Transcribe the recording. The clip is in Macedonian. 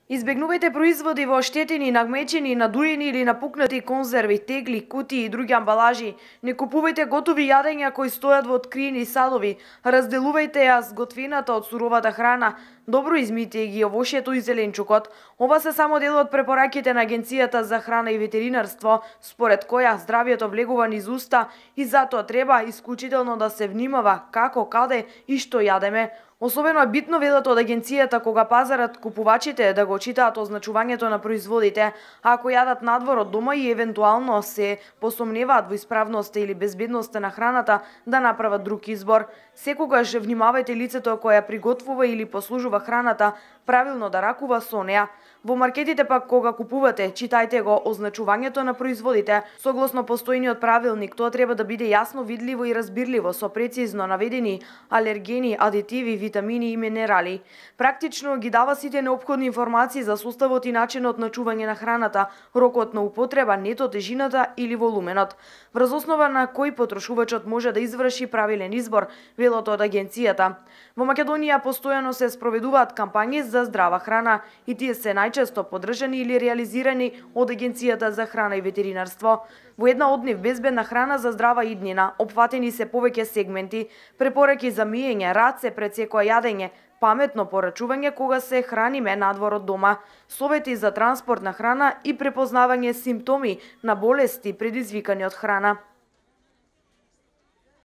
Избегнувајте производи во оштетени, нагмечени, надуени или напукнати конзерви, тегли, кутии и други амбалажи. Не купувајте готови јадења кои стојат во откриени садови. Разделувајте ја сготвената од суровата храна. Добро измите ги овошјето и зеленчукот. Ова се само дел од препораките на Агенцијата за храна и ветеринарство, според која здравјето влегува низ уста и затоа треба исклучително да се внимава како, каде и што јадеме. Особено е битно, велат од агенцијата, кога пазарат купувачите да го читаат означувањето на производите, а ако јадат надвор од дома и евентуално се посомневаат во исправноста или безбедноста на храната, да направат друг избор. Секогаш внимавајте лицето кое ја приготвува или послужува храната правилно да ракува со неа. Во маркетите пак кога купувате, читајте го означувањето на производите. Согласно постојниот правилник, тоа треба да биде јасно видливо и разбирливо со прецизно наведени алергени, адитиви, витамини и минерали. Практично ги дава сите неопходни информации за составот и начинот на чување на храната, рокот на употреба, нето, тежината или волуменот, врз основа на кој потрошувачот може да изврши правилен избор, велат од агенцијата. Во Македонија постојано се спроведуваат кампањи за здрава храна и тие се најчесто поддржани или реализирани од Агенцијата за храна и ветеринарство. Во една од нив, безбедна храна за здрава иднина, опфатени се повеќе сегменти, препораки за миење раце пред секое јадење, паметно порачување кога се храниме надвор од дома, совети за транспорт на храна и препознавање симптоми на болести предизвикани од храна.